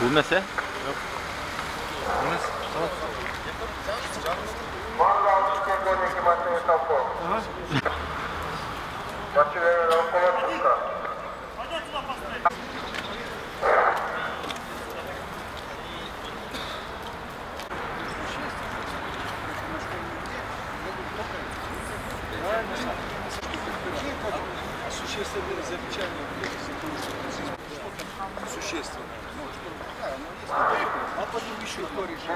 Эмес, э? Жок. Эмес. Существенные замечания. Существенно. А потом еще кто решит.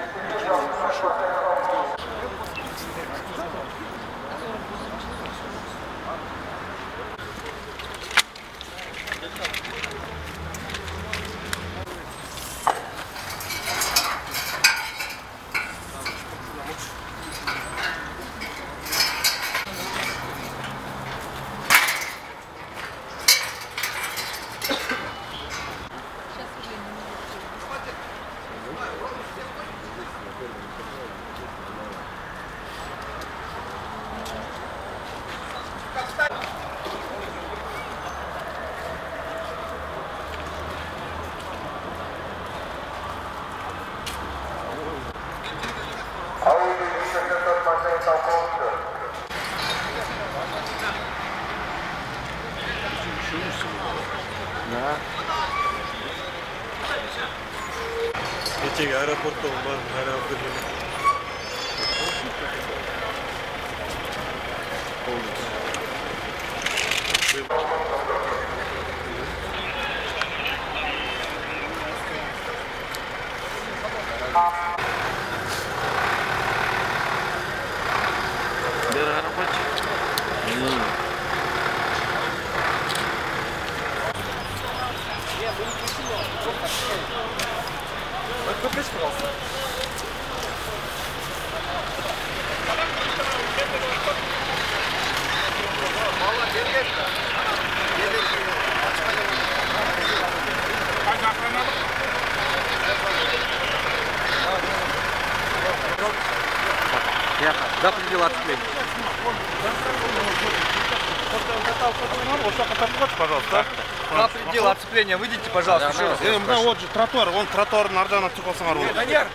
Кечеги аэропортто бар, кайрап келген. Выключи, пожалуйста. За предел отцепления. Пожалуйста. За предел отцепления выйдите, пожалуйста, еще раз. Вот же тротуар, вон тротуардын ар жагына чыгып алсаңар болот. Данияр,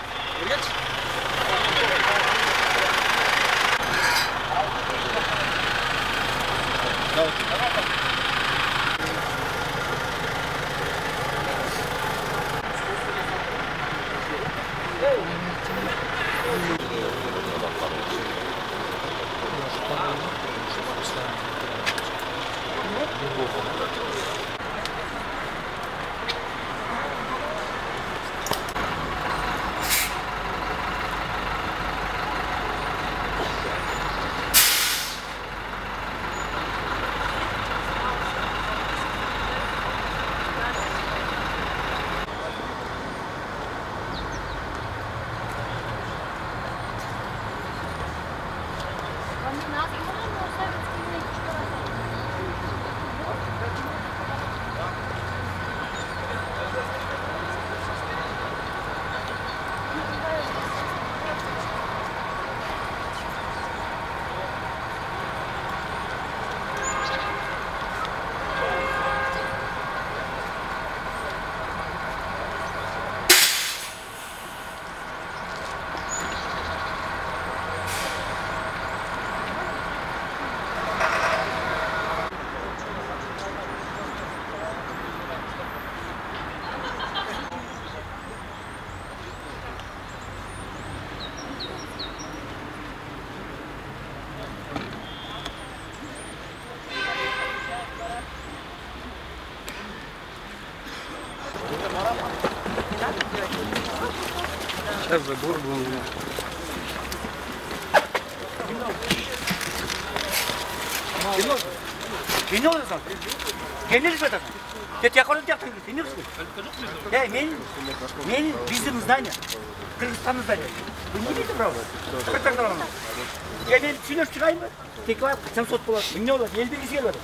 Сейчас забор был. Geliyor musun? Geliyor musun? Ket yakalım yaptın. Geliyor musun? Men bizim здание. Кыргызстан здание. Вы не видите, правда? Как там? Я не сильно вчера текла 700 болады. Мне болады. Ел белгісі келеді.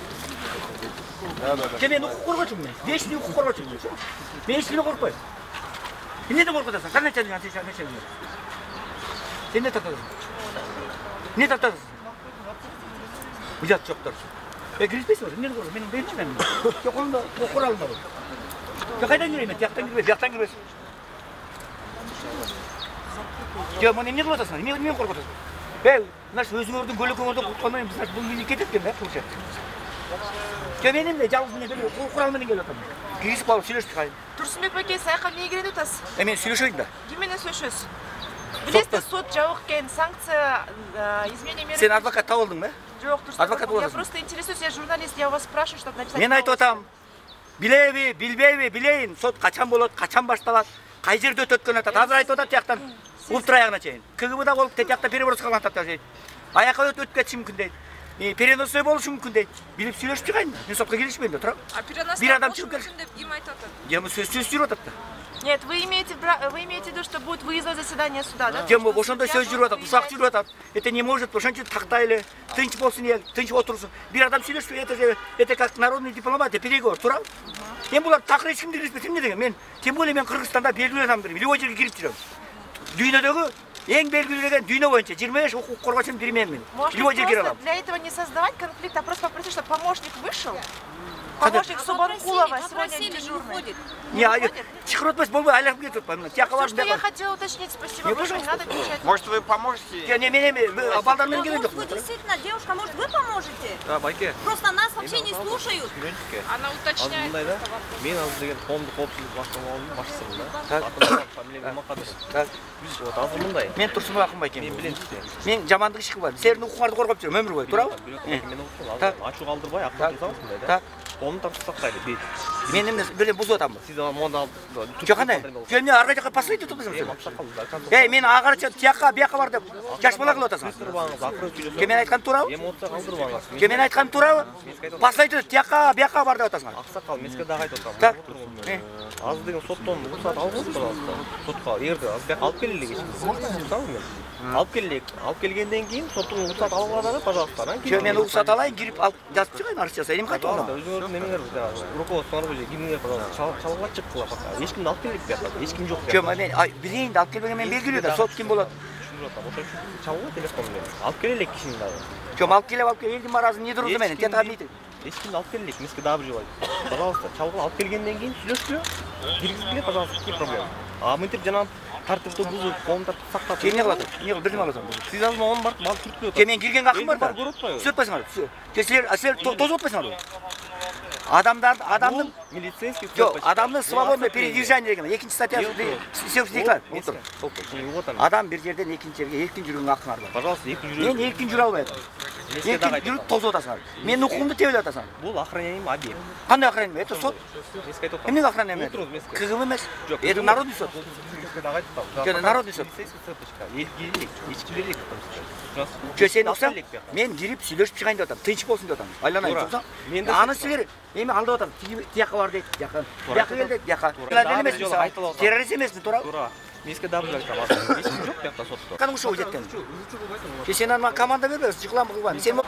Мен құқық қорғаушымын мен. 5 жыл құқық қорғаушымын мен. Мен ешкімнен қорықпаймын. Сен неден қорқытасың? Қандай начальник? Сен не тартасың? Не тартасың? Ұят жоқтар. Кіріспейсің ба? Нені қорқып? Менің берінші мен. Қолымда қоралым бар. Қайдан кірейін мен? Тияқтан кірбейсің. Жок, мына эмне кылып атасың? Эмне коркуп атасың? Бей, мына өзүңөрдүн көлөкөңөрдү куткандан кийин биз бул мени кетет экен да, кылча. Жок, мен эмне жалгыз менен курал менен келип атам. Кирисип алып сүйлөшүп чыгайын. Турсунбек байке, саяка эмнеге келип атасыз? Мен сүйлөшөйүн да. Ким менен сүйлөшөсүз? Билесиз, сот жабык экен, санкция, изменение меры. Сен адвокат таап алдың ба? Жок, Адвокат я просто интересуюсь, я журналист, я вас спрашиваю, чтобы написать. Мен айтып атам. Билеби, билбейби, билейин, сот качан болот, качан башталат, кай жерде өтөт экен атат. Азыр айтып атат тияктан ултур аягына чейин. КГБда болуп тиякта перевоз кылган атат дейт. Аяка өтүп кетиши мүмкүн дейт. Переносной болушу мүмкүн дейт. Билип сүйлөшүп чыгайын. Мен сотко келишпейм да, тура. Бир адам чыгып келишин деп ким айтып атат? Жема сөз жүрүп атат да. Нет, вы имеете в виду, что будет выездное заседание суда, да? Жема ошондой сөз жүрүп атат, усак жүрүп атат. Это не может, ошончо тактайлы, тынч болсун эл, тынч отурсун. Бир адам сүйлөшпөй, это как народный дипломат, переговор, тура. Мен булар такыр эч кимди билбейт, эмне деген? Мен тем более мен Кыргызстанда белгилүү адамдыр, любой жерге кирип жүрөм. Дүйнөдөгү эң белгилүү дүйнө боюнча 25 укук коргоочунун бири менмин. Любой жерге кире алам. Для этого не создавать конфликт, а просто попросить, чтобы помощник вышел. Помощник Субанкулова сегодня дежурный. Не, чакырып атпайсыз, болбой, айланып кетип атпайм. Все, что я хотела уточнить, спасибо большое, не надо кричать. Может, вы поможете? Не, мен балдар менен келген жок. Вы действительно, девушка, может, вы поможете? Да, байке. Просто нас вообще не слушают. Она уточняет. Мен азыр деген коомдук коопсуздук башкармалыгынын башчысымын да. Атым фамилия Макадыр. Так. Вот азыр мындай. Мен Турсунбек Акынбайкем. Мен билем сизди. Мен жамандык иш кылбайм. Силердин укугуңарды коргоп жүрөм өмүр бою, туурабы? Мен укугум ачуу калтырбай, акыл кылсаңыз мындай да. Так. Коомду тартып сактайлы. Мен эмне бир бузуп атамбы? Сиз монда Жок кандай? Жок эмне ар жака паслайт атасың сен? аксакал. Эй, мен агарча тияка бияка бар деп жаш бала кылып атасың. Калтырбаңыз, акырын сүйлөсөң. Мен айткан туурабы? Эмоция калтырбаңыз. Мен айткан туурабы? Паслайт тияка бияка бар деп атасың. Аксакал, мен сизге дагы айтып Так. атам. Азыр деген соттон уруксат алыңыз, пожалуйста. Сотко эгерде азыр алып келели кечинде. Мен алып келелик. Алып келгенден кийин соттун уруксат алып алады, пожалуйста. Анан Жок, мен уруксат алайын, кирип алып жазып чыгайын, арыз жасайын. Эмне кайтып алам? Өзүңөрдүн немеңер руководствоңор же кимиңер чалгыла чыккыла пока. Эч кимди алып келбейт бияка. Эч ким жок. Жок, мен билейин да алып келбеген мен белгилүү да, сот ким болот? Чалгыла телефон менен. Алып келелик кишини дагы. Жок, алып келип элдин маразын не турду менен, тетага мейт. Эч кимди алып келелик, мен сизге дагы бир жолу айтам. Пожалуйста, чалгыла алып келгенден кийин сүйлөшкүлө. Киргизгиле, пожалуйста, какие проблемы. А мынтип жана тартипти бузуп, коом тартып сактап. Эмне кылат? Эмне кылып бирдеме кыласың? Сиз азыр могун барып түрткүлөп Ке мен киргенге акым бар да. Сүз атпайсыңар. Силер тозуп атпайсыңар. Адамдын милицейский жок, адамдын свободный передвижение деген экинчи статьясы сектор. Адам бир жерден экинчи жерге эркин жүрүүгө акыңар бар. Пожалуйста, эркин жүрүңүз. Мен эркин жүрө албайм. Эркин жүрүп тозуп атасыңар. Менин укугумду тебелеп атасыңар. Бул охраняемый объект. Кандай охраняемый? Это сот. Эмне охраняемый? Отуруңуз, мен сизге. КГБ эмес. Это народный сот. Жок, народный сот. Жок, сен уксаң, мен кирип сүйлөшүп чыгайын деп атам. Тынч болсун деп атам. Айланайын уксаң. Аны силер эми алдап атам. Тияка бар дейт, тияка. Тияка кел дейт, тияка. Террорист эмесмин, туура? Туура. Мен сизге дагы бир айтам. Эч ким жок биякта сотто. Каны ушул жеткен. Сен аны команда бербейсиң, чыгылам кылбайм. Сен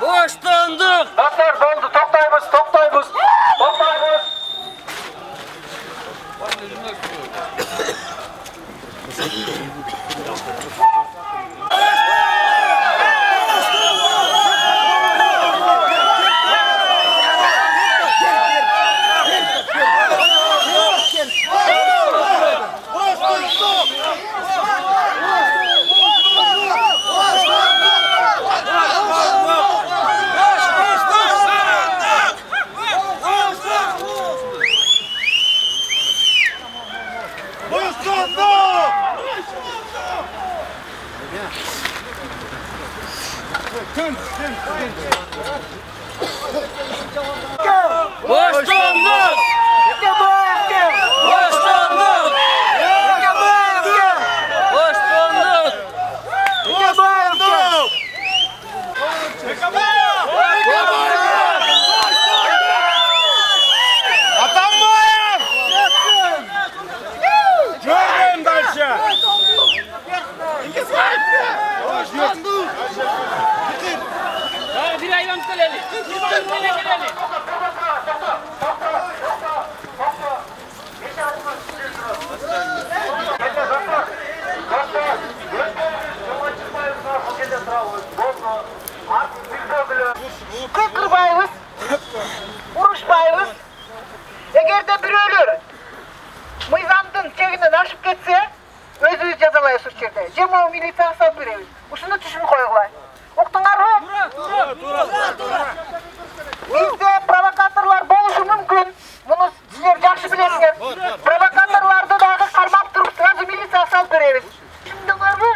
Boşlandık. Dostlar doldu, toktayбыз. кырбайбыз, урушпайбыз. Эгерде бирөөлөр мыйзамдын чегинен ашып кетсе, өзүбүз жазалайбыз ушул жерде. Же могу милицияга салып беребиз. Ушуну түшүнүп койгула. Уктуңарбы? Бизде провокаторлор болушу мүмкүн. Муну силер жакшы билесиңер. Провокаторлорду дагы кармап туруп, сразу милицияга салып беребиз. Түшүндүңөрбү?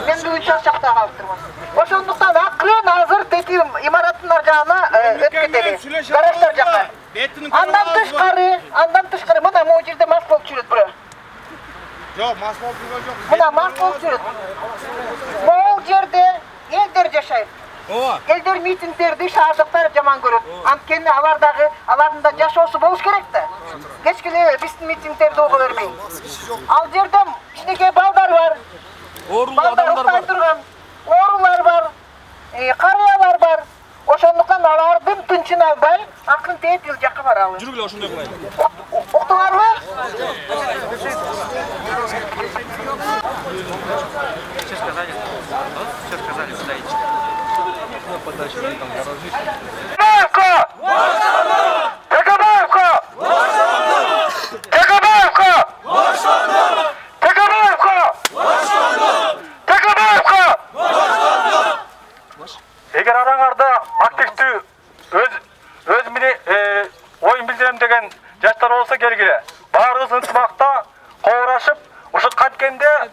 Мен бүгүн чарчакта калып турмун. Ошондуктан акырын азыр дети имараттын жагына өтүп кетели. Гараждар жакка. Андан тышкары мына могу жерде мас болуп жүрөт бирөө. Жок, мас болуп жүргөн жок. Мына мас болуп жүрөт. Могу жерде элдер жашайт. Элдер митингдерди шаардыктар жаман көрөт. Анткени алардын да жашоосу болуш керек да. Кечкеле биздин митингдерди ого бербей. Ал жерде кичинекей балдар бар. Оорулуу адамдар бар. Оорулар бар. Карыялар бар. Ошондуктан алардын тынчын албай, акырын тээп эл жакка баралы. Жүргүлө ошондой кылайлы. Уктуңарбы? Все сказали, подайте. Эгер араңарда активдүү өз оюн билдирем деген жаштар болсо келгиле. Баарыбыз ынтымакта коорашып, ушул канткенде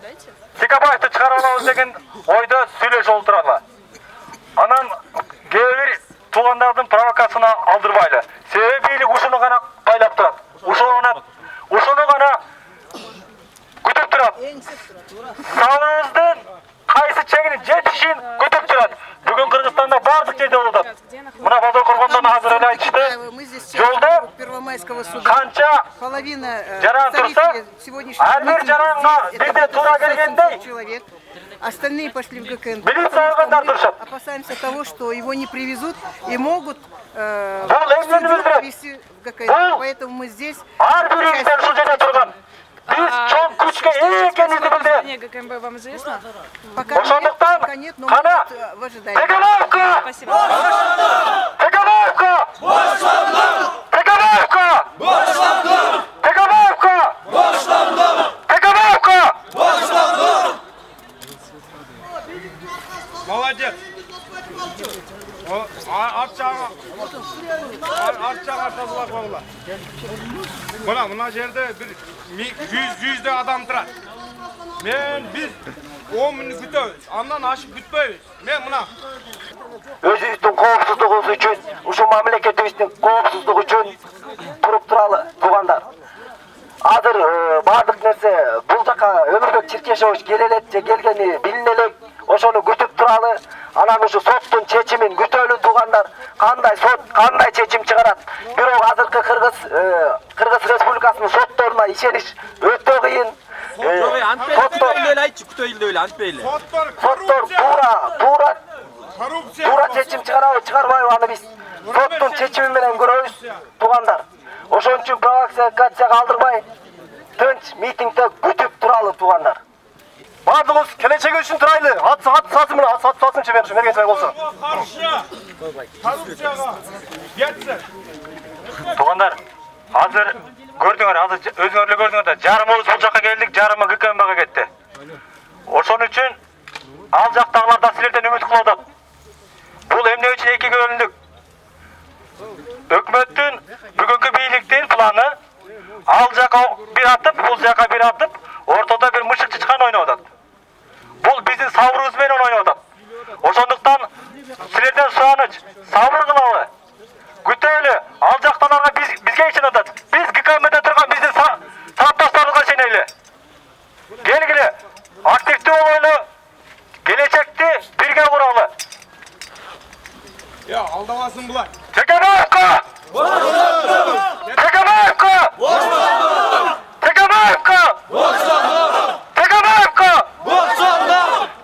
Текебаевди чыгара алабыз деген ойдо сүйлөшүп отуралы. Анан кээ бир туугандардын провокациясына алдырбайлы. Себеби бийлик ушуну гана кайлап турат. Ушуну гана күтүп турат. Сабырыбыздын кайсы чегине жетишин күтүп турат. Бүгүн Кыргызстанда бардык жерде болуп атат. Мына Базар коргондон азыр эле айтышты. Жолдо канча жаран турса, ар бир жаранга бирдей туура келгендей Остальные пошли в ГКНБ. Опасаемся того, что его не привезут и могут привезти в ГКНБ. Поэтому мы здесь. ГКНБ вам известно? Пока нет, но мы в ожидании. Спасибо. Молодец. Арчаға тазалап қойла. Мына жерде бір 100 адам тұрат. Біз 10 минут күтөбүз. Андан ашып күтпөйбүз. Мен мына өзүбүздүн коопсуздугубуз үчүн, ушул мамлекетибиздин коопсуздугу үчүн туруп туралы туугандар. Азыр бардык нерсе бул жака Өмүрбек Чиркешович келе элек же келгени билине элек. Ошону күтүп туралы. Анан ушу соттун чечимин күтөлү туугандар. Кандай сот, кандай чечим чыгарат? Бирок азыркы Кыргыз Республикасынын сотторуна ишениш өтө кыйын. Соттор туура чечим чыгарбайбы аны биз соттун чечими менен көрөбүз туугандар. Ошон үчүн провокацияга алдырбай, тынч митингде күтүп туралы туугандар. Бардыгыбыз келечеги үчүн турайлы. Ат сатысы менен сатсынчы мен мергенчилик болсо. Туугандар, азыр көрдүңөр, азыр өзүңөр эле көрдүңөр да, жарымыбыз бул жакка келдик, жарымы ГКНБга кетти. Ошон үчүн ал жактагылар да силерден үмүт кылып атат. Бул эмне үчүн экиге бөлүндүк? Өкмөттүн бүгүнкү бийликтин планы ал жака бир атып, бул жака бир атып, ортодо бир мышык чычкан ойноп атат. Бул биздин сабырыбыз менен ойноп атат. Ошондуктан силерден сураныч, сабыр кылалы. Күтөлү, ал жакталарга бизге ишенет атат. Биз ГКНБде турган биздин сапташтарыбызга ишенели. Келгиле, активдүү болойлу, келечекти бирге куралы. Я, алдабасын булар. Текебаевка! Текебаевка! Текебаевка! Текебаевка! Текебаевка!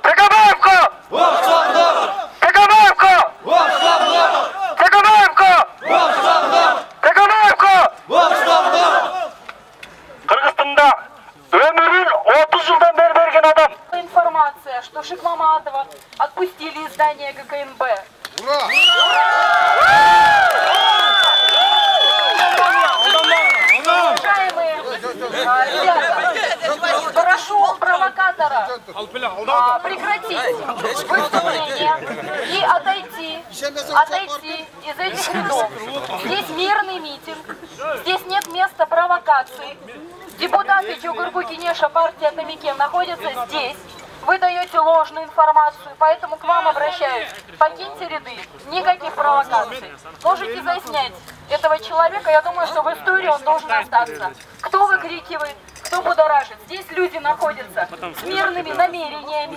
Текебаевка! Текебаевка! Текебаевка! Кыргызстанда өмүрүн 30 жылдан бери берген адам. Информация, что Шикмаматова отпустили из здания ГКНБ. Прошу провокатора прекратить выступление и отойти из этих рядов. Здесь мирный митинг, здесь нет места провокации. Депутаты Чугургу Кенеша партии Атамикен находятся здесь. Вы даете ложную информацию, поэтому к вам обращаюсь. Покиньте ряды, никаких провокаций. Можете заснять этого человека, я думаю, что в истории он должен остаться. Кто выкрикивает, кто будоражит. Здесь люди находятся с мирными намерениями.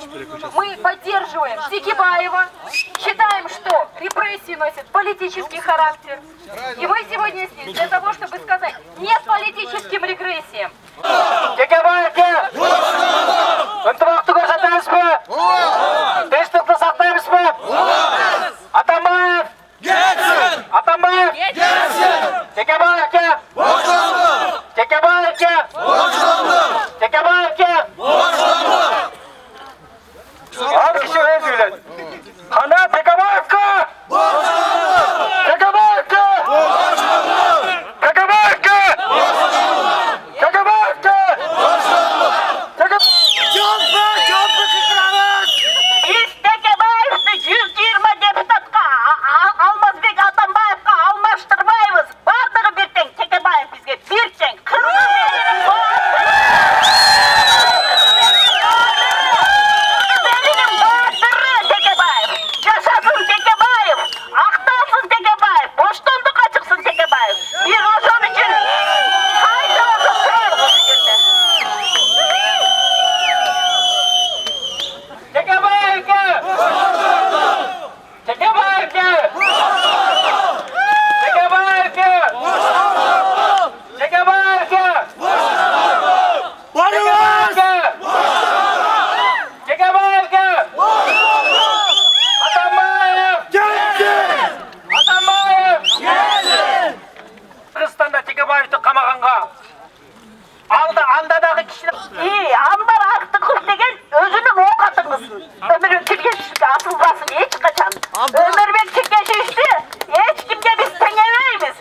Мы поддерживаем Текебаева, считаем, что репрессии носят политический характер. И мы сегодня здесь для того, чтобы сказать нет политическим репрессиям. Ынтымақты көрсетемізбі? Тыныштықты сақтаймызбы? Атамбаев! Кетсін! Атамбаев! Кетсін! Текебаевке! Бошанды! Текебаевке! Бошанды! Текебаевке! Бошанды! Ал киши өз билет. Қана Текебаевке! Бошанды! Текебаевке! Бошанды! Текебаевке! Бошанды! Текебаевке! Biz Tekebаевты 120 депутатқа Алмазбек Атамбаевқа алмаштырбайбыз. Бардығы бір тең, Текебаев бізге бір тең. Текебаев. Жашасын Текебаев. Ақталсын Текебаев. Боштондық ашықсын Текебаев. Biz ошон үшін қайталасып тұрарбыз бұл жерде. Текебаевке! Текебаевке! Текебаевке! Текебаевке! Текебаевке! Атамбаев! Атамбаев! Кыргызстанда Текебаевди камаганга андадагы кишилер Анбар Актыков деген өзүнүн оокатыңыз. Өмүрбек Тилкешевичке асылбасын эч качан. Өмүрбек Тилкешевичти эч кимге биз теңебейбиз.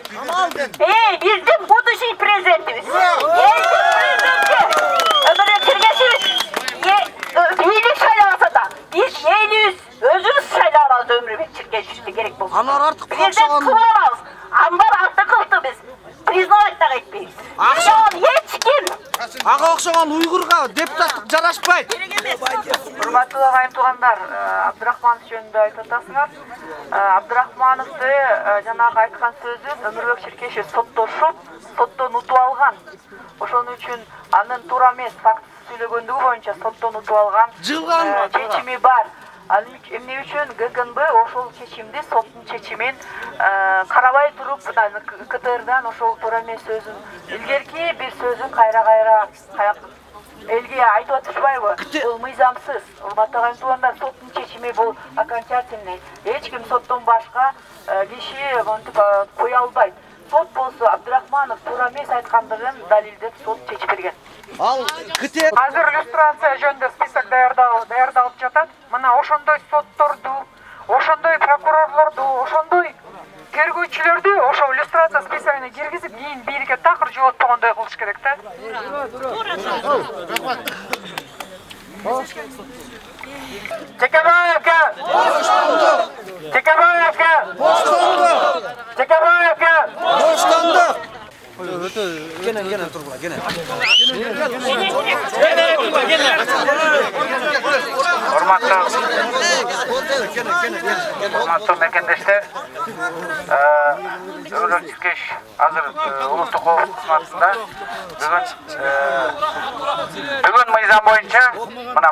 Биздин будущий президентибиз. Өмүрбек Тилкешевич бийлик шайлабаса да биз элибиз өзүбүз шайлап алабыз Өмүрбек Тилкешевичти керек болсо. Анар артык президент кылып алабыз. Анбар Актыковду биз признавать да этпейбиз. Эч ким Ага окшогон уйгурга депутаттык жарашпайт. Урматтуу агайын туугандар, Абдрахманов жөнүндө айтып атасыңар. Абдрахмановду жанагы айткан сөзүн Өмүрбек Черкешев соттошуп, соттон утуп алган. Ошон үчүн анын туура эмес фактысы сүйлөгөндүгү боюнча соттон утуп алган чечими бар. Эмне үчүн ГКНБ ошол чечимди, соттун чечимин карабай туруп, КТРдан ошол туура эмес сөзүн, илгерки бир сөзүн кайра элге айтып атышпайбы? Бул мыйзамсыз. Урматтуу агайын туугандар, соттун чечими бул окончательный. Эч ким соттон башка киши монтип кое албайт. Сот болсо Абдрахманов туура эмес айткандыгын далилдеп сот чечип берген. Азыр иллюстрация жөнүндө список даярдалып жатат. Мына ошондой сотторду, ошондой прокурорлорду, ошондой тергөөчүлөрдү ошол иллюстрация списогуна киргизип, кийин бирге такыр жоготпогондой кылыш керек да. Текебаевке! Текебаевке! Текебаевке! Урматтуу мекендештер, Өмүрбек Тилкешев азыр улуттук коопсуздук кызматында бүгүн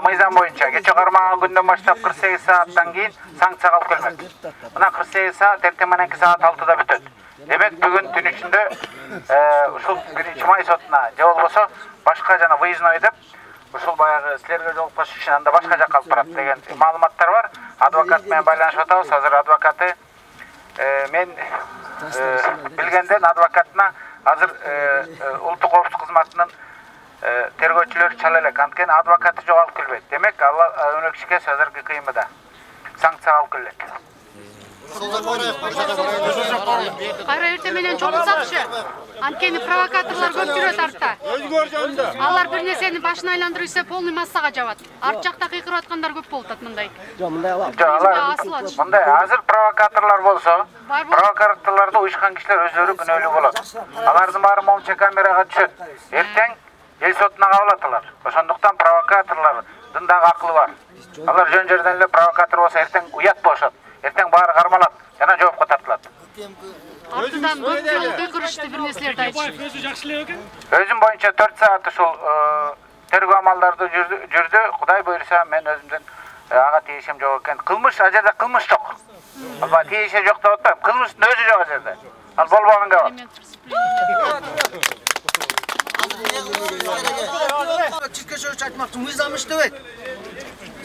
мыйзам боюнча кече кармаган күндөн баштап 48 сааттан кийин санкцияга алып келмек. Мына 48 саат эртең мененки саат 6-да бүтөт. Демек бүгүн түн ичинде ушул 1-май сотуна же болбосо башка жана выездной деп ушул баягы силерге жолукпаш үчүн анда башка жакка алып барат деген маалыматтар бар. Адвокат менен байланышып атабыз. Азыр адвокаты мен билгенден адвокатына азыр улуттук коопсуздук кызматынын тергөөчүлөрү чала элек. Анткени адвокаты жок алып келбейт. Демек Өмүрбек Черкешев азыр ГКМда санкцияга алып келет. Кайра эртең менен чогулсакчы. Анткени провокаторлор көп жүрөт артта. Алар бир нерсени башына айландырып ийсе полный массага жабат. Арт жакта кыйкырып аткандар көп болуп атат мындай. Жок, мындай алам. Мындай азыр провокаторлор болсо, провокаторлорду уюшкан кишилер өздөрү күнөөлүү болот. Алардын баары момча камерага түшөт. Эртең эл сотуна кабылат алар. Ошондуктан провокаторлордун дагы акылы бар. Алар жөн жерден эле провокатор болсо эртең уят болушат. Эртең баары кармалат жана жоопко тартылат. Артынан көп жолу кыйкырышты бир нерселерди айтышып. Өзү жакшы эле экен. Өзүм боюнча 4 саат ушул тергөө амалдарды жүрдү. Кудай буйруса мен өзүмдөн ага тийишим жок экен. Кылмыш ал жерде кылмыш жок. Алба тийиши жок деп атпайм. Кылмыштын өзү жок ал жерде. Ал болбоганга бар. Чиркешевич айтмакчы, мыйзам иштебейт.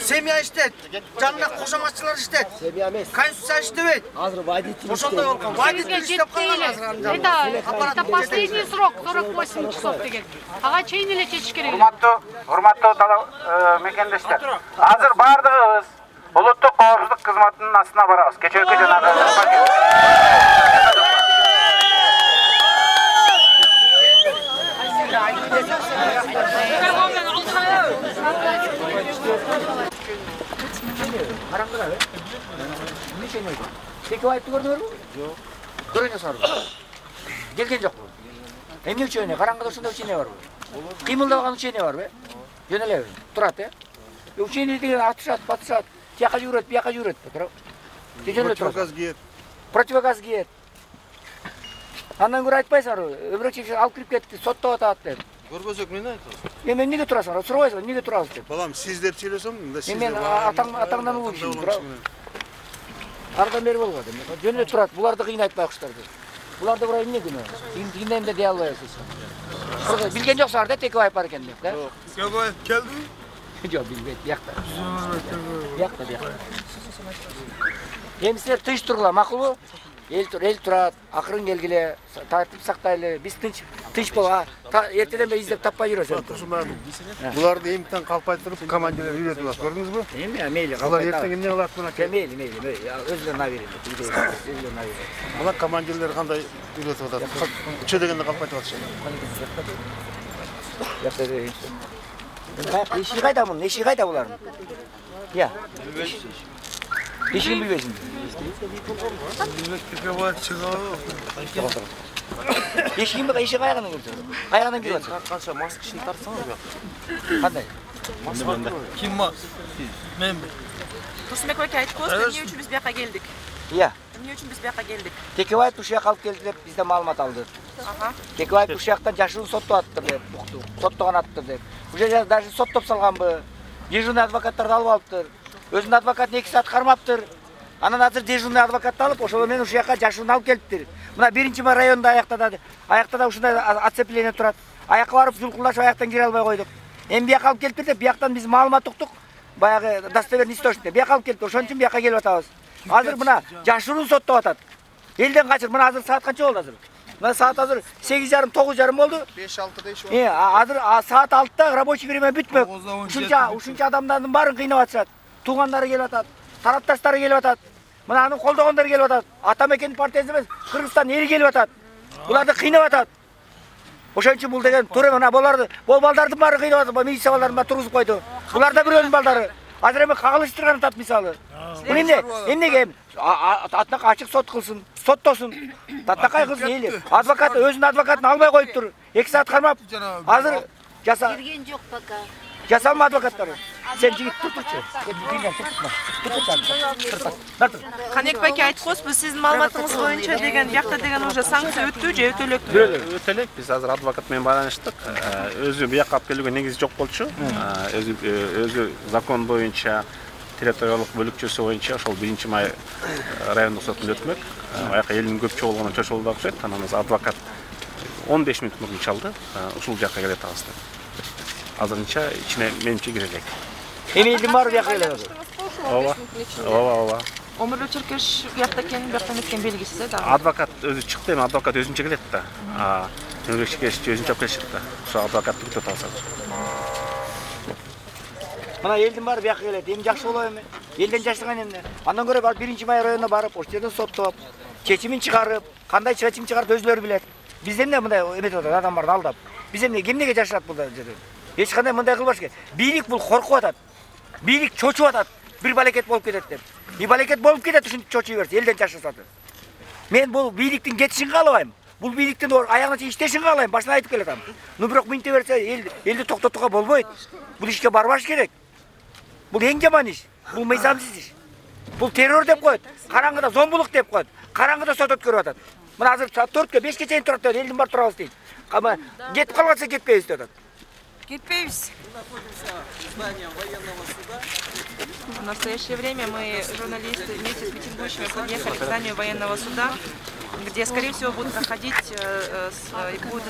Семья иштейт, жанында кошоматчылар иштейт. Семья эмес. Конституция иштебейт. Азыр водитель ошондой болгон. Водитель иштеп калган азыр. Это последний срок 48 часов деген. Ага чейин эле чечиш керек. Урматтуу мекендештер. Азыр баардыгыбыз улуттук коопсуздук кызматынын астына барабыз. Кечээки жана Караңгыда бе? Эмне чейин ойду? Теке айтты көрдүңөрбү? Жок. Көрөңө сарбы. Келген жокпу. Эмне үчүн караңгыда ушундай үчүн барбы? Кыймылдабаган үчүн барбы? Жөн элеби. Турат, Үчүн деген атышат, батышат. Тияка жүрөт, бияка жүрөт. Противогаз кийет. Противогаз кийет. Андан көрө айтпайсыңарбы? Өбүрөк алып кирип кетти, соттоп атат деп. Көрбөсөк эмне айтасыз? Эми эмнеге турасыңар? Сурабайсыңар, эмнеге турабыз деп. Балам, сиз деп сүйлөсөм, мында сиз. Мен атаңдан улуучумун, тура. Ардан бери болбойт. Жөн эле турат. Буларды кыйнайт байкуштар деп. Буларды бура эмне күнөө? Кийинем деп дей албайсыз. Билген жоксуңар да Текебаев бар экен деп, да? Текебаев келдиби? Жок, билбейт, биякта. Биякта. Эми силер тынч тургула, макулбу? Эл турат, акырын келгиле, тартип сактайлы. Биз тынч боло. Эртеден бери издеп таппай жүрөсүз. Буларды эмтен калпай туруп командирлер үйрөтүп атат, көрдүңүзбү? Эми мейли калпай. Алар эртең эмне кылат мына? Мейли. Өзүлөрүн аберет. Мына командирлер кандай үйрөтүп атат? Үчө дегенде калпайтып атышат. Эшиги кайда мунун? Эшиги кайда булардын? Я. Эшигин билбейсиңби? Эшигин эшиги кайгадан келди? Кайгадан келип атат? Канча мас кишини тартсаңар буяка. Кандай? Ким мас? Мен. Турсунбек ака айтып коюңуз, эмне үчүн биз бияка келдик? Иә. Эмне үчүн биз бияка келдик? Текебаев ушул жака алып келди деп бизден маалымат алды. Текебаев ушул жактан жашыруун соттоп аттыр деп уктук. Соттогон аттыр деп. Уже даже соттоп салганбы? Дежурный адвокаттарды алып алыптыр. Өзүнүн адвокатын 2 саат кармаптыр. Анан азыр дежурный адвокатты алып, ошол менен ушул жака жашыруун алып келиптир. Мына 1-районда аяктада ушундай оцепление турат. Аякка барып жулкулдашып аяктан кире албай койдук. Эми бияка алып келиптир деп, бияктан биз маалымат уктук. Баягы достоверный источник. Бияка алып келиптир. Ошон үчүн бияка келип атабыз. Азыр мына жашыруун соттоп атат. Элден качыр. Мына азыр саат канча болду азыр? Мына саат азыр 8:30, 9:30 болду. 5-6 дейшип. Азыр саат 6-та рабочий время бүтмөк. Ушунча адамдардын баарын кыйнап атышат. Туугандары келип атат, тарапташтары келип атат. Мына аны колдогондор келип атат. Ата мекен партиясы эмес, Кыргызстан эли келип атат. Буларды кыйнап атат. Ошон үчүн бул деген туура мына буларды, бул балдардын баары кыйнап атат. Милиция балдарын баары тургузуп койду. Булар да бирөөнүн балдары. Азыр эми кагылыштырган атат мисалы. Бул эмнеге атнак ачык сот кылсын, соттосун. Татакай кылсын эли. Адвокат өзүнүн адвокатын албай коюптур. 2 саат кармап. Азыр Кирген жок пока. Жасалма адвокаттары. Сен жигит турчу. Канекбек ака айтып коесузбу, сиздин маалыматыңыз боюнча деген бияқта деген уже санкция өттү же өтөлөктү? Өтөлөк. Биз азыр адвокат менен байланыштык. Өзү бияка алып келүүгө негизи жок болчу. Өзү закон боюнча территориялык бөлүкчөсү боюнча ошол 1-май райондук сотунда өтмөк. Аяка элдин көп чогулганына чочулду окшойт. Анан адвокат 15 мүнөт мурун чалды. Ушул жакка келет атабыз. Азырынча ичине менче кире элек. Эми элдин баары бияка келет. Ооба. Өмүрлүк чиркеш биякта экенин бияктан өткөн белгиси да. Адвокат өзү чыкты, эми адвокат өзүнчө келет да. Өмүрлүк чиркеш өзүнчө алып келишет да. Ошо адвокатты күтүп атабыз. Мына элдин баары бияка келет. Эми жакшы болобу эми? Элден жашырган эмне? Андан көрө барып 1-май районуна барып, ошол жерден соттоп, чечимин чыгарып, кандай чечим чыгарып өзүлөрү билет. Биз эмне мындай эметип атат, адамдарды алдап. Биз эмнеге жашырат бул жерде? Эч кандай мындай кылбаш керек. Бийлик бул коркуп атат. Бийлик чочуп атат. Bir балекет болуп кетет деп. Bir балекет болуп кетет ушинтип чочуй берсе, элден жашырсат. Мен бул бийликтин кетишин каалабайм. Бул бийликтин аягына чейин иштешин каалайм, башына айтып келатам. Бирок минте берсе элди токтотууга болбойт. Бул ишке барбаш керек. Бул эң жаман иш. Бул мыйзамсыз иш. Бул террор деп коет. Караңгыда зомбулук деп коет. Караңгыда сот өткөрүп атат. Мына азыр 4-кө 5ке чейин турат деп элдин бар турабыз дейт. Кама кетип калбаса кетпейбиз деп атат. Кетпейбиз. В настоящее время мы, журналисты, вместе с митингующими подъехали к зданию военного суда, где, скорее всего, будут проходить и будут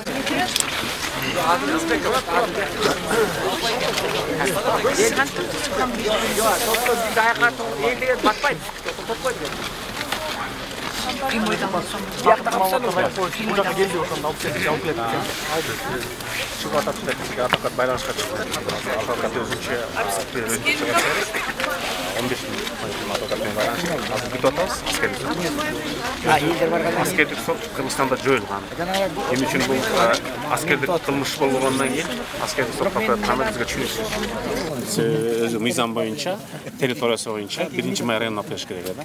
Çıkıp atıp advokat baylanışka çıktı. Advokat özünçe 15 bin advokatмен baylanışka. Azır bir total askerlik sot. Askerlik sot Kırgızstanda joyulgan. Emin üçün bu askerlik kılmış bolğondan keyin askerlik sot tapatkanı bizge түшүнүшүбүз. Өзү мыйзам боюнча, территориясы боюнча 1-май районуна атыш керек эди.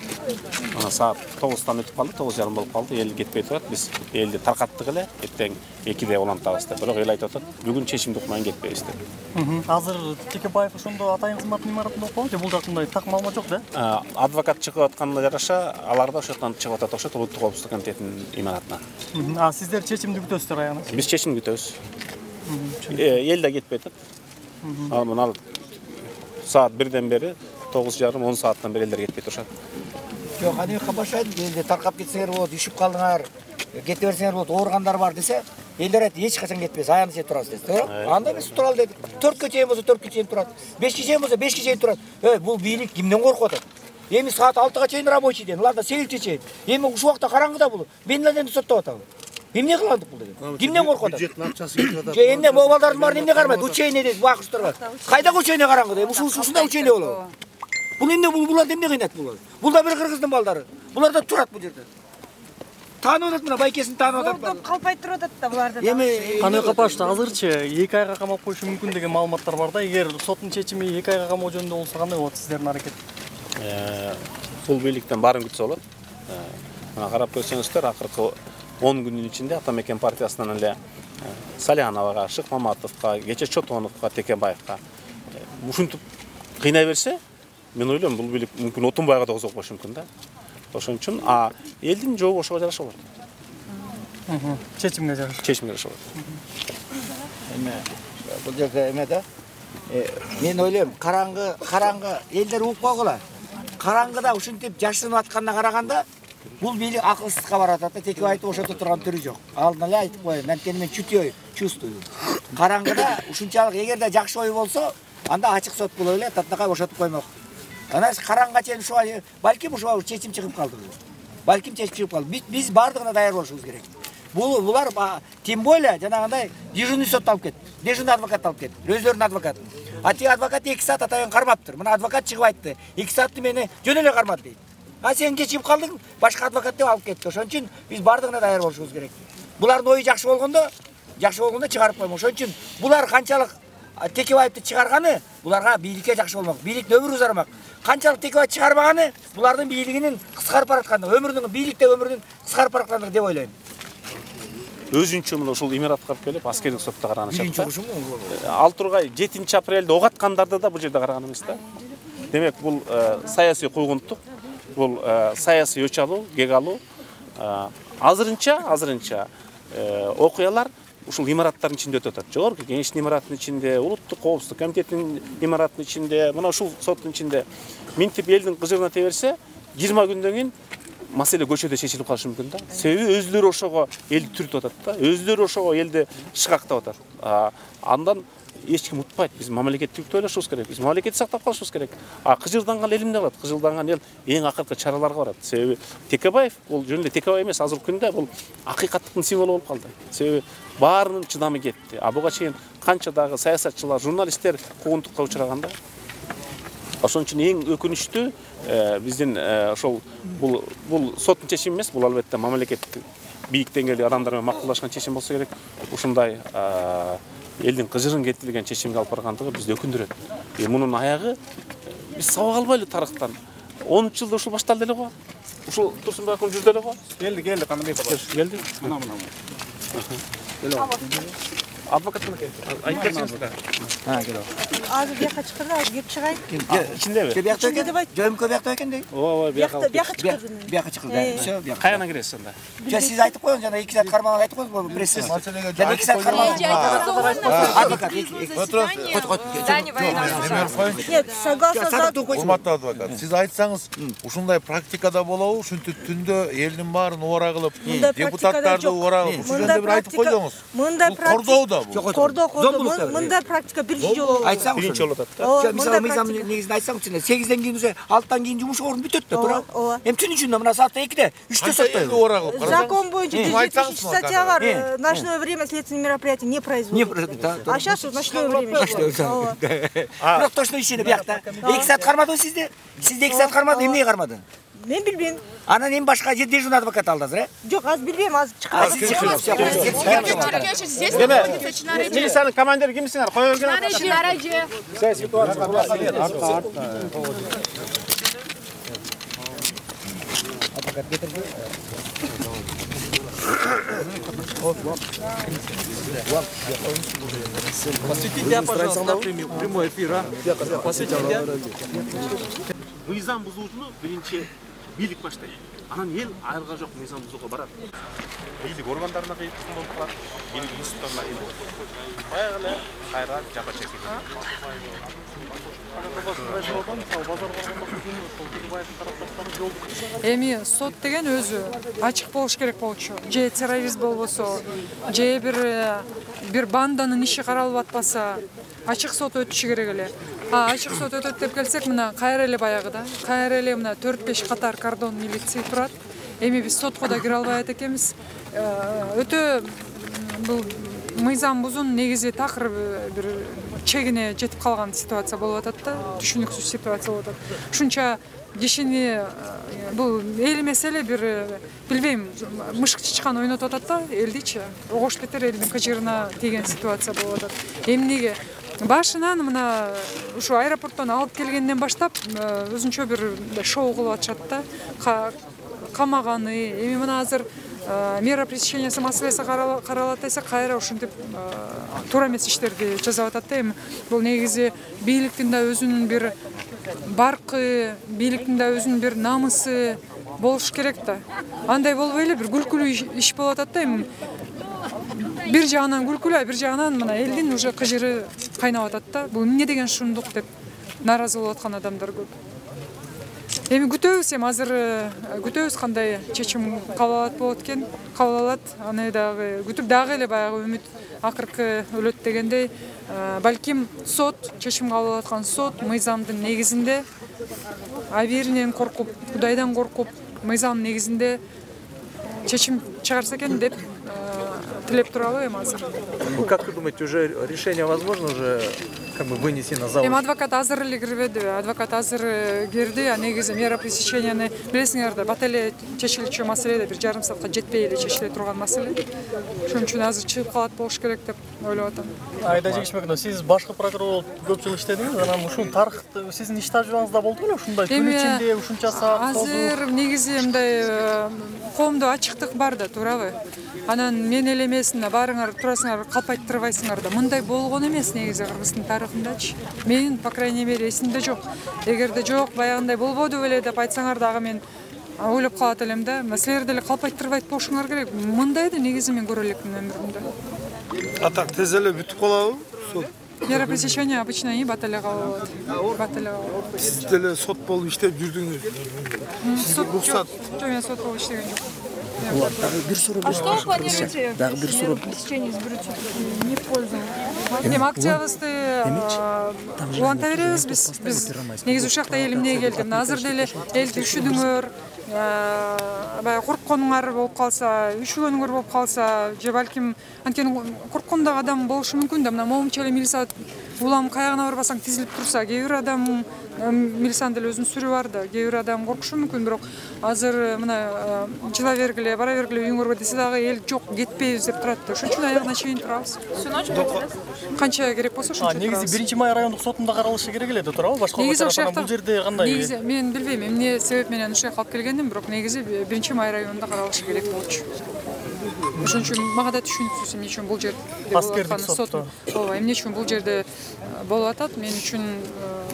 Ана саат 9-тан өтүп калды, 9:30 болуп калды. Эл кетпей турат. Биз элди таркаттык эле, эртең 2-де улантабыз деп. Бирок эл айтып атат, бүгүн чечимди укмай кетпейбиз деп. Азыр Текебаев ошондо атайын кызматтын имаратында окуп, же бул жактында так маалымат жок да? Адвокат чыгып атканына жараша, алар да ошоктон чыгып атат окшойт, Улуттук коопсуздук комитетинин имаратына. Сиздер чечимди күтөсүздөр аягына? Биз чечим күтөбүз. Эл да кетпей атат. Мына saat 1'den beri 9:30-10 saatten beri elder ketpey turuşat. Yok, hani kapashaydı, elде tarqap ketseler болот, düşüp kaldыңар, kete berseler болот, oğurganдар бар dese, elder aytты, эч качан кетпейсиз, аягына чейин турасыз дести, туура? Анда биз туралы дедик. 4-кө чейин болсо 4-кө чейин турат. 5-кө чейин болсо 5-кө чейин турат. Бул бийлик кимден коркуп атат? Эми саат 6-га чейин рабочий ден, уларда 8-ке чейин. Эми ушул убакта караңгыда бул. Мен эле соттоп атабы? Эмне кыландык бул деген? Кимден коркуп атат? Бюджеттин акчасы кетип атат. Же эмне балдардын баарын эмне кармайт? Учейне дейт, бакыштырга. Кайдагы учейне караңгыда? Ушундай учейне болобу? Бул эмне буларды эмне кыйнайт булар? Бул да бир кыргыздын балдары. Булар да турат бул жерде. Таанып атат мына байкесин таанып атат. Ордоп калпай туруп атат да буларды. Эми кандай капашты азырчы 2 айга камап коюшу мүмкүн деген маалыматтар бар да. Эгер соттун чечими 2 айга камоо жөнүндө болсо кандай болот сиздердин аракет? Бул бийликтен баарын күтсө болот. Мына карап көрсөңүздөр, акыркы 10 күнүн ичинде Атамекен партиясынан эле Саляновага, Шыкмаматовго, Кече Чотоновго, Текебаевга ушинтип кыйнай берсе, мен ойлойм бул бийлик мүмкүн Отунбайга да козгоп коюшу мүмкүн да. Ошон үчүн элдин жообу ошого жараша болот. Чечимге жараша. Чечимге жараша болот. Эме бул жерде эме да. Мен ойлойм, караңгы элдер угуп койгула. Караңгыда ушинтип жашырынып атканына караганда бул бийлик акылсызга барат да, Текебаевдин ошото турган түрү жок. Алдын эле айтып коеюн, анткени мен чувствую. Караңгыда ушунчалык эгерде жакшы ой болсо, анда ачык сот болуп эле Татнакай бошотуп коймок. Анан караңга чейин ушуга балким ушуга чечим чыгып калды. Балким чечим чыгып калды. Биз бардыгына даяр болушубуз керек. Булар тем более жанагындай дежурный сот алып кетти. Дежурный адвокат алып кетти. Өздөрүнүн адвокаты. Ати адвокат 2 саат атайын кармаптыр. Мына адвокат чыгып айтты. 2 саатты мени жөн эле кармады дейт. Сен кечип калдың, башка адвокат деп алып кетти. Ошон үчүн биз бардыгына даяр болушубуз керек. Булардын ою жакшы болгондо чыгарып коймок. Ошон үчүн булар канчалык Текебаевди чыгарганы буларга бийликке жакшы болмок. Бийликтин өмүрү узармак. Канчалык Текебаев чыгарбаганы булардын бийлигинин кыскарып бараткандыгы, бийликте өмүрүнүн кыскарып бараткандыгы деп ойлойм. Өзүнчө мына ушул имаратка барып келип, аскердик сотто караганычат. 6 Тургай 7 апрелде ок аткандарды да бул жерде караган эмес да. Демек бул саясий куугунтук, бул саясий өч алуу, кек алуу. Азырынча окуялар ушул имараттардын ичинде өтүп атат. Жогорку Кеңештин имаратынын ичинде, Улуттук коопсуздук комитетинин имаратынын ичинде, мына ушул соттун ичинде минтип элдин кыжырына теберсе, 20 күндөн кийин маселе көчөдө чечилип калышы мүмкүн да. Себеби өзүлөрү ошого элди түртүп атат да. Өзүлөрү ошого элди шыкактап атат. Андан эч ким утпайт. Биз мамлекеттикти ойлошубуз керек. Биз мамлекетти сактап калышыбыз керек. Кыжырданган эл эмне кылат? Кыжырданган эл эң акыркы чараларга барат. Себеби Текебаев бул жөн эле Текебаев эмес, азыркы күндө бул акыйкаттыктын символу болуп калды. Себеби баарынын чыдамы кетти. Буга чейин канча дагы саясатчылар, журналисттер куугунтукка учураганда Ошон үчүн эң өкүнүчтүү биздин ошол бул соттун чечими эмес, бул албетте мамлекеттик бийик деңгээлдеги адамдар менен макулдашкан чечим болсо керек. Ушундай элдин кыжырын кетирген чечимге алып баргандыгы бизди өкүндүрөт. Мунун аягы биз сабак албайлы тарыхтан. 10 жылда ушул башталды эле го. Ушул Турсунбай акым жүрдү эле го. Келди, кандай келди. Мына. Адвокат айтып берсеңиз да. Келип. Азыр бияка чыкырды, азыр кеп чыгайын. Ичиндеби? Бияка экен. Жөмкө бияка экен дейт. Ооба, бияка. Бияка чыкырды. Бияка чыкырды. Всё, бияка. Каяна киресиз анда? Сиз айтып коюңуз, жана 2 саат кармаган айтып коюңуз, билесиз. Жана 2 саат кармаган. Адвокат. Нет, согласна. Урматтуу адвокат, сиз айтсаңыз, ушундай практикада болобу? Ушинтип түндө элдин баарын убара кылып, депутаттарды убара кылып, ушул жөнүндө бир айтып койдуңуз. Мындай кордоо да бул. Кордоо. Мындай практика биринчи жолу. Биринчи жолу атат да. Мисалы мыйзам негизинде айтсаңыз, 8ден кийин уже 6тан кийин жумуш орун бүтөт да, туура. Эми түн ичинде мына саатта 2де, 3те соттойбу. Закон боюнча 170 статья бар. Ночное время следственные мероприятия не производят. А сейчас ночное время. Бирок точно ишене биякта. 2 саат кармады сизди. Сизди 2 саат кармады, эмне кармады? Мен билбейм. Анан эми башка дежурный адвокат алды азыр, Жок, азыр билбейм, азыр чыкат. Милициянын командири кимсиңер? Кое берген. Посвятите, пожалуйста, прямой эфир, а? Посвятите. Мыйзам бузуучуну биринчи бийлик баштайт. Анан эл айылга жок мыйзам бузууга барат. Бийлик органдарына кыйын болуп калат. Бийлик институттарына кыйын болуп калат. Баягы эле кайра жапа чекет. Эми сот деген өзү ачык болуш керек болчу. Же террорист болбосо, же бир банданын иши каралып атпаса, ачык сот өтүшү керек эле. Ачык сот өтөт деп келсек, мына кайра эле баягыда, кайра эле мына 4-5 катар кордон милиция турат. Эми биз сотко да кире албай экенбиз. Өтө бул мыйзам бузуун негизи такыр бир чегине жетип калган ситуация болуп атат да, түшүнүксүз ситуация болуп атат. Ушунча кишини бул эл эмес эле бир билбейм, мышык чычкан ойнотуп атат да элдичи. Огош бетер элдин кыжырына тийген ситуация болуп атат. Эмнеге башынан мына ушу аэропорттон алып келгенден баштап өзүнчө бир шоу кылып атышат да. Камаганы, эми мына азыр мера пресечениясы маселеси каралат десек, кайра ушинтип туура эмес иштерди жасап атат да. Эми бул негизи бийликтин да өзүнүн бир баркы, бийликтин да өзүнүн бир намысы болуш керек да. Андай болбой эле бир күлкүлүү иш болуп атат да. Эми бир жагынан күлкүлүү, бир жагынан мына элдин уже кыжыры кайнап атат да. Бул эмне деген шундук деп нааразы болуп аткан адамдар көп. Эми күтөбүз, эми азыр күтөбүз кандай чечим кабыл алат болот экен, кабыл алат. Аны дагы күтүп дагы эле баягы үмүт акыркы өлөт дегендей, балким сот, чечим кабыл алып аткан сот мыйзамдын негизинде, абийиринен коркуп, Кудайдан коркуп, мыйзам негизинде чечим чыгарса экен деп тилеп туралы эми азыр. Как вы думаете, уже решение возможно уже как бы вынести на завод? Эми адвокат азыр эле кирбеди, адвокат азыр кирди, а негизи мера пресеченияны билесиңер да, бат эле чечилчү маселе да, 1,5 саатка жетпей эле чечиле турган маселе. Ошон үчүн азыр чыгып калат болуш керек деп ойлоп атам. Айда Жигишбековна, сиз башкы прокурор болуп көп жыл иштедиңиз, анан ушул тарыхты сиздин иш тажрыйбаңызда болду беле ушундай күн ичинде ушунча саат созуу? Азыр негизи мындай коомдо ачыктык бар да, туурабы? Анан мен эле эмес, баарыңар турасыңар, калпайттырбайсыңар да. Мындай болгон эмес негизи Кыргыздын тарыхындачы. Мен, по крайней мере, эсимде жок. Эгерде жок, баягындай болбоду беле деп айтсаңар дагы мен ойлоп калат элем да. Силер деле калпайттырбайт болушуңар керек. Мындайды негизи мен көрө элекмин өмүрүмдө. Атак тез эле бүтүп калабы? Мера пресечения обычно бат эле калып алат. Бат эле калып алат. Сиз деле сот болуп иштеп жүрдүңүз. Рухсат. Жок, мен сот болуп иштеген жок. Бир суроо. А что вы планируете? Дагы бир суроо. Пресечение изберут не в пользу. Эми акциябызды уланта беребиз биз. Негизи ушул жакта эл эмнеге келди? Азыр деле элди үшүдүңөр, баягы коркконуңар болуп калса, үшүгөнүңөр болуп калса, же балким анткени корккондогу адам болушу мүмкүн да. Мына момунча эле милиция улам каягына барбасаң тизилип турса, кээ бир адам милициянын деле өзүнүн сүрү бар да, кээ бир адам коркушу мүмкүн, бирок азыр мына жыла бергиле, бара бергиле үйүңөргө десе дагы эл жок, кетпейбиз деп турат да. Ошон үчүн аягына чейин турабыз. Канча керек болсо ошончо турабыз. Негизи 1-май райондук сотунда каралышы керек эле да туурабы? Башка бул жерде кандай? Негизи мен билбейм, эмне себеп менен ушул жака алып келгенин, бирок негизи 1-май районунда каралышы керек болчу. Ошон үчүн мага да түшүнүксүз эмне үчүн бул жерде аскердик сотто. Ооба, эмне үчүн бул жерде болуп атат, мен үчүн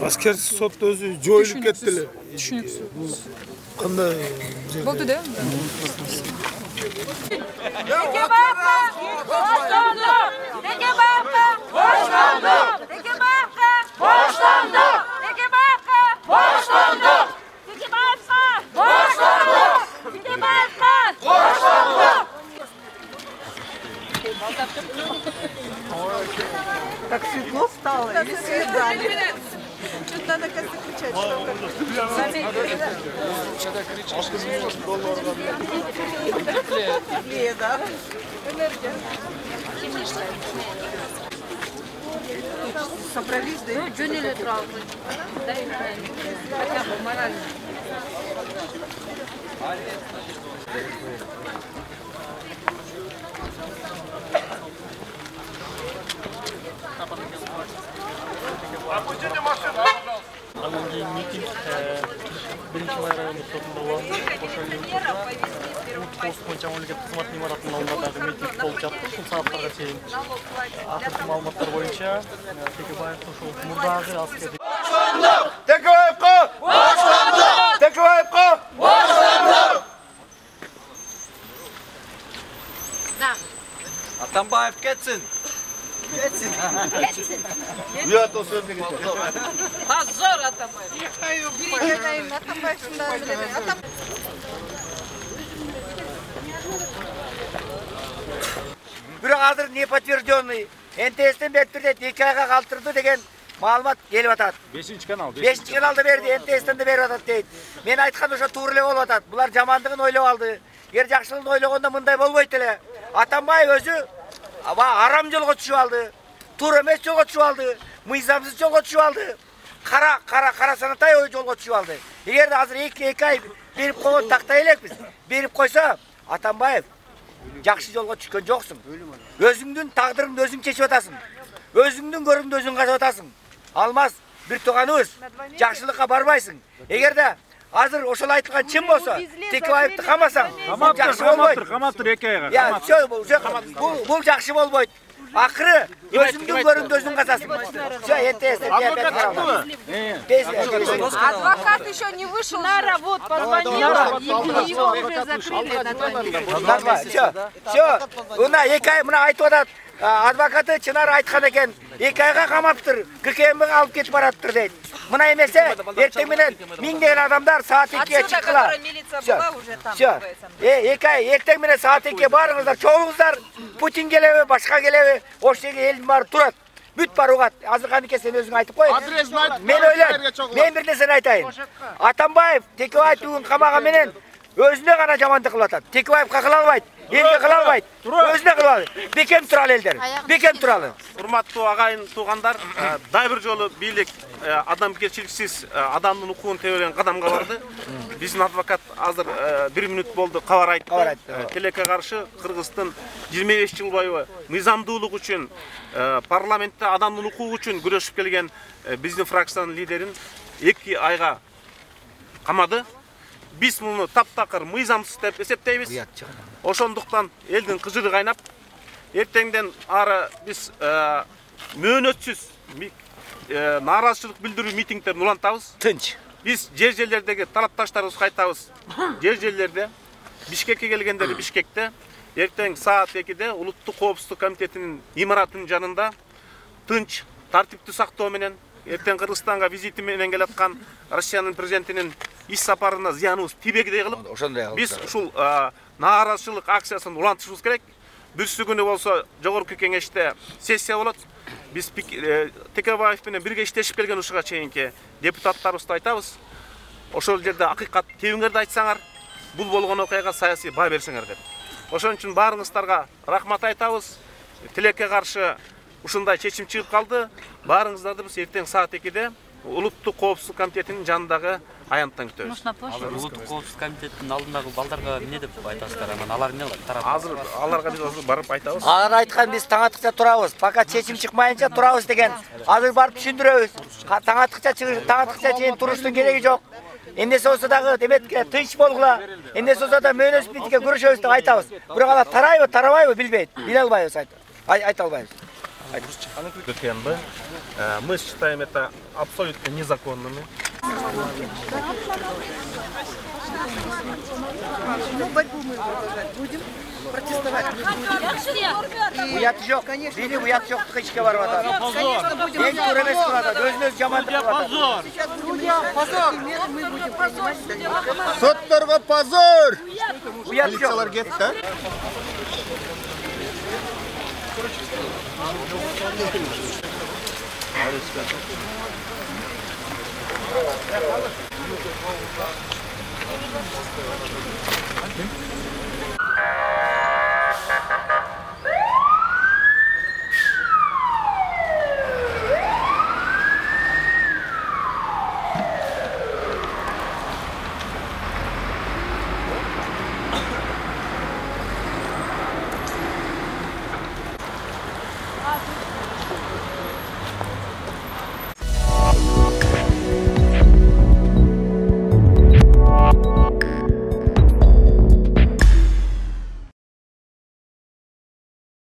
аскердик сот өзү жоюлуп кетти эле. Түшүнүксүз. Кандай болду да? Так светло стало, и свидание. Что-то надо как-то кричать, Что-то кричишь, Теплее, да? Энергия. Собрались, да? Ну, жөнеле турабыз. Хотя бы морально. Андан кийин митинг 1-май райондук сотунда болду. Пост боюнча мамлекеттик кызмат имаратынын алдында дагы митинг болуп жатты. Ушул сааттарга чейин акыркы маалыматтар боюнча Текебаев ушул мурдагы аскердик Текебаевка! Текебаевка! Да. Атамбаев кетсин. Кетсин. Уят о сөзүнө кетет. Позор Атамбаев. Бирикетайын Атамбаевдин да билебейм. Бирок азыр не подтвержденный, НТСтен берип бирде 2 айга калтырды деген маалымат келип атат. 5-канал. 5-каналда берди, НТСтен да берип атат дейт. Мен айткан ошо туура эле болуп атат. Булар жамандыгын ойлоп алды. Эгер жакшылыгын ойлогондо мындай болбойт эле. Атамбаев өзү арам жолго түшүп алды. Туура эмес жолго түшүп алды. Мыйзамсыз жолго түшүп алды. Кара санатай жолго түшүп алды. Эгерде азыр 2 ай берип койгон тактай элекпиз. Берип койсо, Атамбаев жакшы жолго түшкөн жоксуң. Өзүңдүн тагдырыңды өзүң чечип атасың. Өзүңдүн көрүңдү өзүң казып атасың. Алмаз бир тууганыбыз, жакшылыкка барбайсың. Эгерде азыр ошол айтылган чын болсо, Текебаевди камасаң, жакшы болбойт. Камаптыр 2 айга. Я, бул жакшы болбойт. Акыры өзүңдүн көрүңдү өзүң казасың. Всё, НТС. Адвокат еще не вышел. Нара вот позвонила, и его уже закрыли на 2 месяца. Всё. Мына 2 ай мына айтып атат. Адвокаты Чынар айткан экен, 2 айга камаптыр, ККМге алып кетип бараттыр дейт. Мына эмесе, эртең менен миңдеген адамдар саат 2-ге чыккыла. Всё. 2 ай эртең менен саат 2-ге барыңыздар, чогулуңуздар. Путин келеби, башка келеби, ошол жерге элдин баары турат. Бүт бар угат. Азырканыке сен өзүң айтып кой. Мен ойлойм. Мен бир нерсени айтайын. Атамбаев Текебаев бүгүн камаган менен өзүнө гана жамандык кылып атат. Текебаевка кыла албайт. Элге кыла албайт. Өзүнө кыла албайт. Бекем туралы элдер. Бекем туралы. Урматтуу агайын туугандар, дагы бир жолу бийлик адамгерчиликсиз адамдын укугун тебелеген кадамга барды. Биздин адвокат азыр 1 мүнөт болду кабар айтты. Тилекке каршы Кыргыздын 25 жыл бою мыйзамдуулук үчүн, парламентте адамдын укугу үчүн күрөшүп келген биздин фракциянын лидерин 2 айга камады. Биз муну таптакыр мыйзамсыз деп эсептейбиз. Ошондуктан элдин кыжыры кайнап, эртеңден ары биз мөөнөтсүз нааразычылык билдирүү митингдерин улантабыз. Тынч. Биз жер-жерлердеги талапташтарыбызды кайтабыз. Жер-жерлерде Бишкекке келгендер Бишкекте, эртең саат 2-де Улуттук коопсуздук комитетинин имаратынын жанында тынч, тартипти сактоо менен эртең Кыргызстанга визити менен келаткан Россиянын президентинин иш сапарына зыяныбыз тийбегидей кылып, биз ушул нааразычылык акциясын улантышыбыз керек. Бүрсү күнү болсо жогорку кеңеште сессия болот. Биз Текебаев менен бирге иштешип келген ушуга чейинки депутаттарыбызды айтабыз. Ошол жерде акыйкат тебиңерди айтсаңар, бул болгон окуяга саясий баа берсеңер деп. Ошон үчүн баарыңыздарга рахмат айтабыз. Тилекке каршы ушундай чечим чыгып калды. Баарыңыздарды биз эртең саат 2-де Улуттук коопсуздук комитетинин жанындагы аянттан күтөбүз. Улуттук коопсуздук комитетинин алдындагы балдарга эмне деп айтасыздар? Анан алар эмне кылат? Азыр аларга биз барып айтабыз. Алар айткан биз таң атыкча турабыз. Пока чечим чыкмайынча турабыз деген. Азыр барып түшүндүрөбүз. Таң атыкча чейин туруштун кереги жок. Эмнеси болсо дагы деметке тынч болгула. Эмнеси болсо да мөөнөс битке күрөшөбүз деп айтабыз. Бирок алар тарайбы, тарабайбы билбейт. Биле албайбыз айта албайбыз. Мы считаем это абсолютно незаконными. Ну, борьбу мы продолжать будем, протестовать будем. Уят жок, били уят жок, тыкычка барып атат. Конечно, будем. Эң туура эмес кылып атат, өзүнөз жамандык кылып атат. Сейчас будем позор. Мы будем принимать. Сотторго позор! Уят жок. Полициялар кетти.